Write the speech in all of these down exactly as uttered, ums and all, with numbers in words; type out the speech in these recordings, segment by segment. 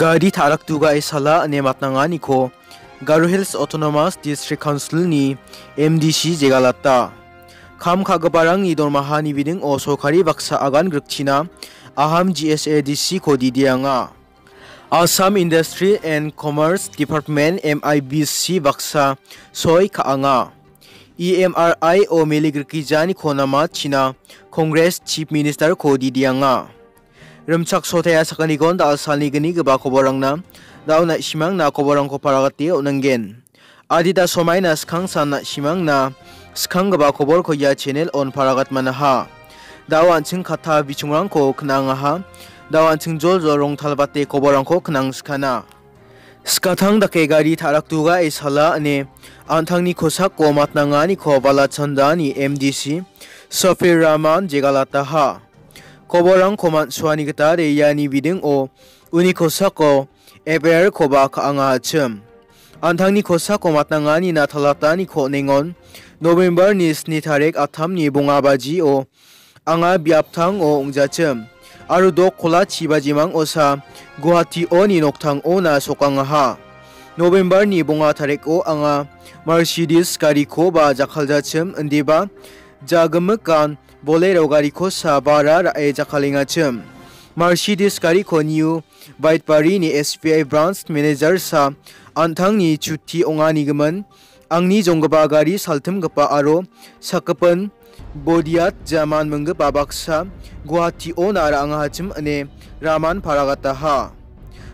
Gari ta·rakdugae sala ine matnanganiko Garo Hills Autonomous District Council-ni M D C jegalata. Kam ka·giparangni dormahani bidingo sorkari baksa agan grikchina Aham G S A D C-ko didianga. Assam Industry and Commerce Department, M I B C, baksa soi ka·anga. E M R I-o mele grikijaniko namachina Congress Chief Minister-ko didianga. Rimchaksotea sakgnigon da·alsalni gnigipa koborangna da·o na·simangna koborangko paragate on·angen. Adita somaina skangsan na·simangna skanggipa koborko ia channel-on paragatmanaha. Da·o an·ching katta bichongrangko knangaha. Da·o an·ching joljol rongtalbate koborangko knangskana. Skatang dake gari ta·rakdugae sala ine an·tangni kosako matnanganiko Balachandani M D C Safir Rahman jegalataha. Koborangko man·suani gitade iani bidingo uni kosako F I R-koba ka·angachim. An·tangni kosako matnanganina talataniko on·engon November-ni sni tarik attamni bonga bajio anga biaptango ong·jachim aro dok kola chi bajimang osa Guwahati-oni noktangona sokangaha. November-ni bonga tariko anga Mercedes garikoba jakkaljachim, indiba jagimikan Bolero garikosa bara ra·e jakkalengachim. Mercedes gariko New Baitbari-ni S B I branch manager-sa an·tangni chuti ong·anigimin, angni jonggipa gari saltimgipa aro sakgipin Bodiat Jaman minggipa baksa Guwahati-ona ra·angahachim ine Rahman paragataha.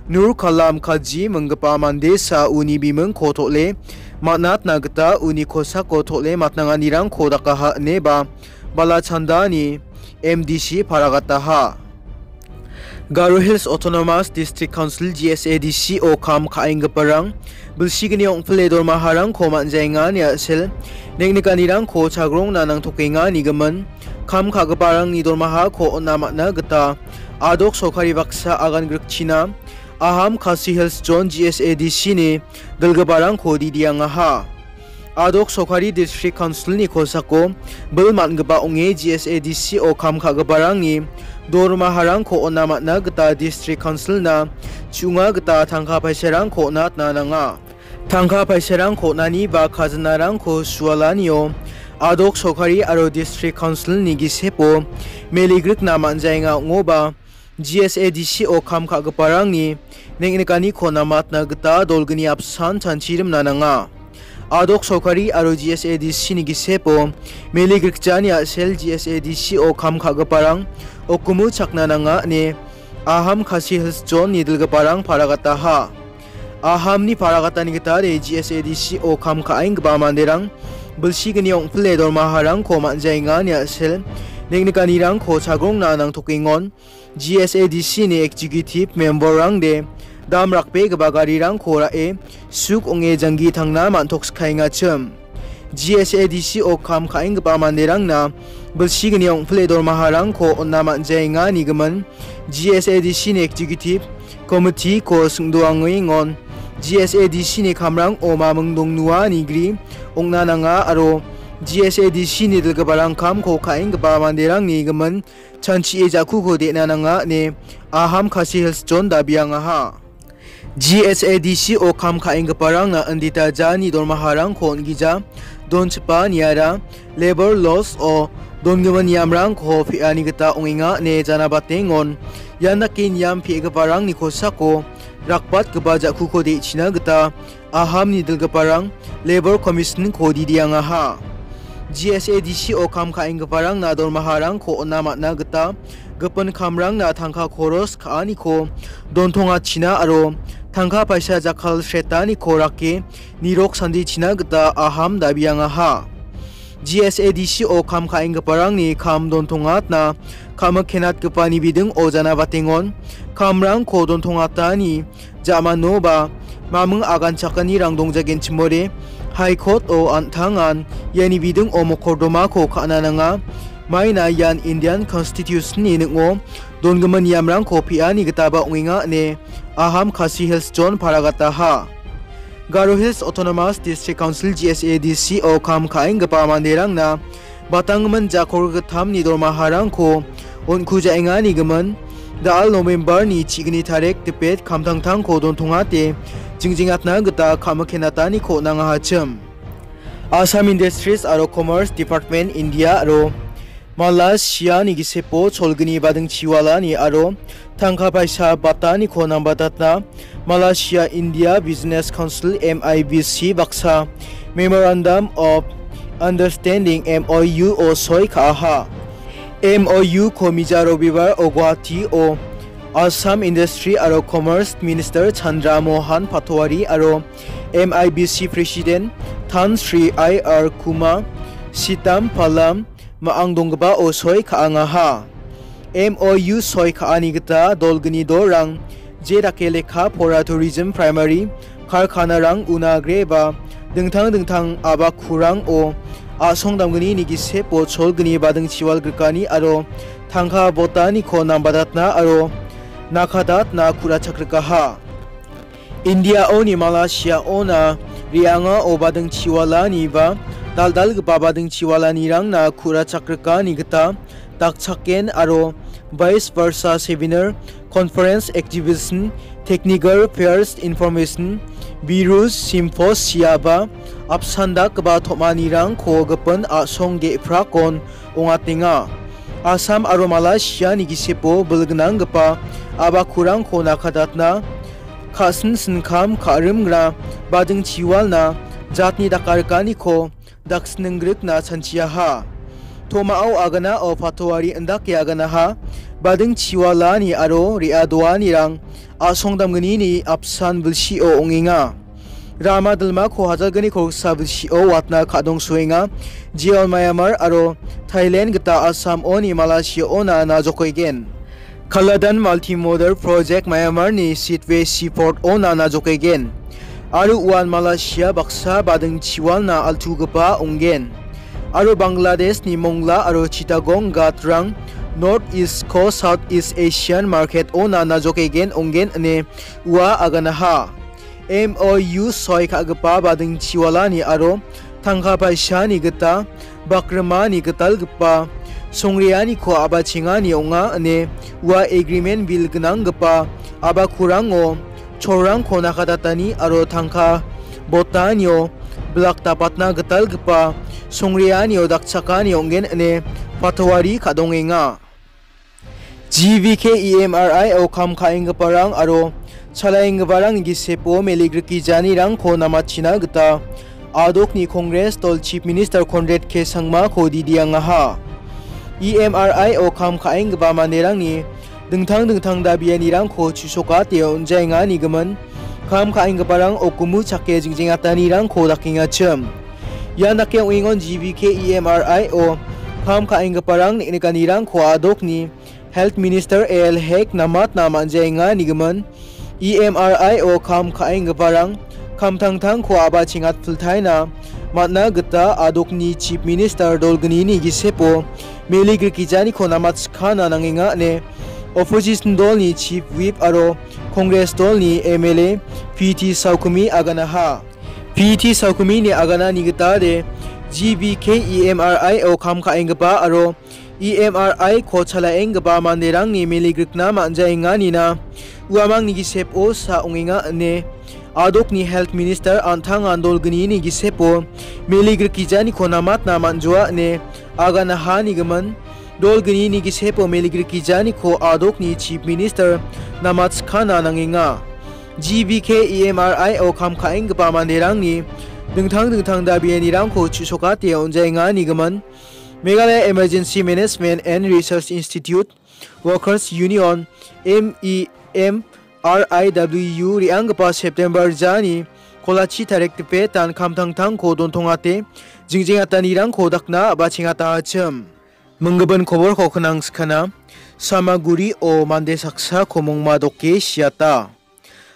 Nur Kalam Kaji minggipa mandesa uni bimingko tol·e man·atna gita uni kosako tol·e matnanganirangko dakaha ineba Balachandani M D C paragataha. Garo Hills Autonomous District Council, G S A D C-o kam ka·enggiparang bilsigni ong·pile dormaharangko man·jaenga ine a·sel neng·nikanirangko chagrongna nangtokenga nigimin, kam ka·giparangni dormahako on·a man·a gita adok sorkari baksa agan grikchina Aham Khasi Hills Zone G S A D C-ni dilgiparangko didiangaha. Adok sorkari District Council-ni kosako bil man·gipa ong·e G S A D C-o kam ka·giparangni dormaharangko on·a man·a gita District Council-na chu·onga gita tangka paisarangko on·atna nanga. Tangka paisarangko on·ani ba kajinarangko sualanio adok sorkari aro District Council-ni gisepo meligrikna man·jaenga ong·oba, G S A D C-o kam ka·giparangni neng·nikaniko namatna gita dolgni apsan chanchirimna nanga. Adok sorkari aro G S A D C-ni gisepo meligrikjani a·sel G S A D C-o kam ka·giparang okumu chakna nanga ine Aham Khasi Hills Zone-ni dilgiparang paragataha. Ahamni paragatani gitade G S A D C-o kam ka·enggipa manderang bilsigni ong·pile dormaharangko man·jaenga ine a·sel neng·nikanirangko chagrongna nangtokengon. G S A D C-ni executive member-rangde dam rakbegipa garirangko ra·e suk ong·e janggi tangna man·tokskaengachim. G S A D C-o kam ka·enggipa manderangna bilsigni ong·pile dormaharangko on·a man·jaenga nigimin, G S A D C-ni executive committee-ko singdoangengon. G S A D C-ni kamrango maming dongnua nigri ong·na nanga aro G S A D C-ni dilgiparang kamko ka·enggipa manderangni gimin chanchie ja·kuko de·na nanga ine Aham Khasi Hills Zone dabiangaha. G S A D C-o kam ka·enggiparangna indita jani dormaharangko on·gija donchipa niara labour laws-o dongimin niamrangko pe·ani gita ong·enga ine janabatengon. Ian dake niam pe·giparangni kosako rakbatgipa ja·kuko de·china gita Ahamni dilgiparang Labour Commission-ko didiangaha. G S A D C-o kam ka·enggiparangna dormaharangko on·a man·a gita gipin kamrangna tangka koros ka·aniko dontongachina aro tangka paisa jakkal sretaniko rake nirok sandichina gita Aham dabiangaha. G S A D C-o kam ka·enggiparangni kam dontongatna kamik kenatgipani bidingo janabatengon kamrangko dontongatani ja·manoba maming aganchakanirang dongjagenchimode High Court-o an·tangan iani bidingo mokordomako ka·na nanga. Maina ian Indian Constitution-ni ning·o dongimin niamrangko pe·ani gitaba ong·enga ine Aham Khasi Hills Zone paragataha. Garo Hills Autonomous District Council, G S A D C-o kam ka·enggipa manderangna batanggimin jako gittamni dormaharangko on·kujaengani gimin, Da·al November-ni chigni tarik dipet kamtangtangko dontongate jingjengatna gita kamikkenataniko on·angahachim. Assam Industries aro Commerce Department India aro Malaysia-ni gisepo cholgni badingchiwalani aro tangka paisa bataniko nambatatna Malaysia India Business Council, M I B C, baksa Memorandum of Understanding, M O U, o soi ka·aha. M O U ko mija Robibar o Guwahati o Assam Industry aro Commerce Minister Chandra Mohan Patwari aro M I B C President Tan Sri I R Kuma Sitam Palam ma·ang donggipao soi ka·angaha. M O U soi ka·ani gita dolgni dorang je dake lekka pora, tourism, primary karkanarang, una agreba dingtang dingtang abakurango a·song damgnini gisepo cholgni badingchiwal grikani aro tangka botaniko nambatatna aro nakatatna ku·rachakrikaha. India-oni Malaysia-ona re·angao badingchiwalani ba dal·dalgipa badingchiwalanirangna ku·rachakrikani gita dakchaken aro vice versa seminar, conference, exhibition, technical fairs, information, birus, symposia ba apsan dakgipa tom·anirangko gipin a·song ge·prakon ong·atenga. Assam aro Malaysia-ni gisepo bilgnanggipa abakurangko nakatatna, ka·sin sinkam ka·rimgra badingchiwalna jatni dakarikaniko daksningrikna chanchiaha. Tomao aganao patowari indake aganaha badingchiwalani aro re·adoanirang a·song damgnini apsan bilsio ong·enga. Rama dilmako hajalgni kolgsa bilsio watna ka·dongsoenga. Jeon Myanmar aro Thailand gita Assam-oni Malaysia-ona najokaigen. Kaladan Multimodal Project Myanmar-ni Sittwe Seaport-ona najokaigen. Aro uan Malaysia baksa badingchiwalna altugipa ong·gen. Aro Bangladesh-ni Mongla aro Chittagong ghatrang North East ko South East Asian Market-ona najokaigen ong·gen ine ua aganaha. M O U soi ka·gipa badingchiwalani aro tangka paisani gita bakrimani gitalgipa songreaniko a·bachengani ong·a ine ua agreement bilgnanggipa abakurango cholrangko nakatatani aro tangka botanio bilak dapatna gitalgipa songreanio dakchakani ong·gen ine patowari ka·dongenga. G V K E M R I o kam ka·enggiparang aro chalaenggiparangni gisepo meligrikgijanirangko namachina gita adokni Congress dol Chief Minister Conrad K Sangmako didiangaha. E M R I o kam ka·enggipa manderangni dingtang dingtang dabianirangko chu·sokate on·jaengani gimin, kam ka·enggiparang okgumu chake jingjengatanirangko dakengachim. Ian dake ong·engon G V K E M R I o kam ka·enggiparang neng·nikanirangko adokni Health Minister A L Hek namatna man·jaenga nigimin, E M R I o kam ka·enggiparang kamtangtangko a·ba chengatpiltaina man·na gita adokni Chief Minister dolgnini gisepo meligrikgijaniko namatskana nangenga ine opposition dolni Chief Whip aro Congress dolni M L A P T Saukumi aganaha. P T Saukumi-ni aganani gitade G V K E M R I o kam ka·enggipa aro E M R I ko chalaenggipa manderangni meligrikna man·jaenganina uamangni gisepo sa ong·enga ine adokni Health Minister an·tangan dolgnini gisepo meligrikgijaniko namatna man·joa ine aganaha nigimin. Dolgnini gisepo meligrikgijaniko adokni Chief Minister namatskana nangenga. G V K E M R I o kam ka·enggipa manderangni dingtang dingtang dabianirangko chu·sokate on·jaenga nigimin. Meghalaya Emergency Management and Research Institute Workers Union, M E M R I W, re·anggipa September jani kolachi tarik dipetan kamtangtangko dontongate jingjengatanirangko dakna a·ba chengatachim. Minggimin koborko knangskana, Samagurio mande saksako mongma doke siata.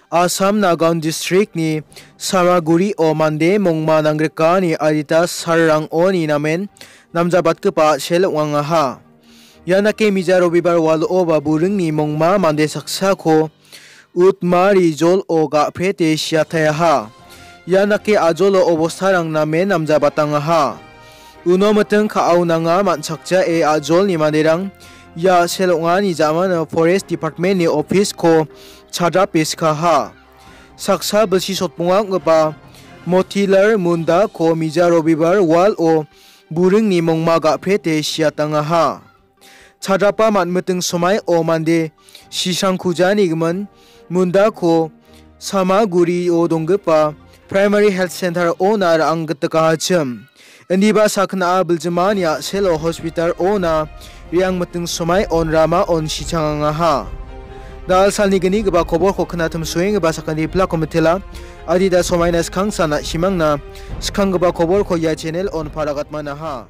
Assam Nagaon districtni Samagurio mande mongma nanggrikani adita salrangoni namen namjabatgipa a·sel ong·angaha. Ian dake mija robibar walo ba buringni mongma mande saksako Utmari jolo ga·prete siatayaha. Ian dake ajolo obostarang namen namjabatangaha. Uno miting ka·aonanga man·chakjae ajolni manderang Ia sel ong·ani ja·mano Forest Department-ni office-ko chadrape sikaha. Saksa bilsi sotbonga ong·gipa Motilal Mundako mija Robibar wal-o buringni mongma ga·prete siatangaha. Chadrapa man·miting somaio mande sisangkujani gimin Mundako Samagurio donggipa Primary Health Center-ona ra·anggitikahachim. Indiba sakgna·a biljimani a·selo hospital-ona re·angmiting somaion ramaon sichangangaha. Da·al salni gnigipa koborko knatim soengipa sakgni plako mitela. Adita somaina skangsan na·simangna skanggipa koborko ia channel-on paragatmanaha.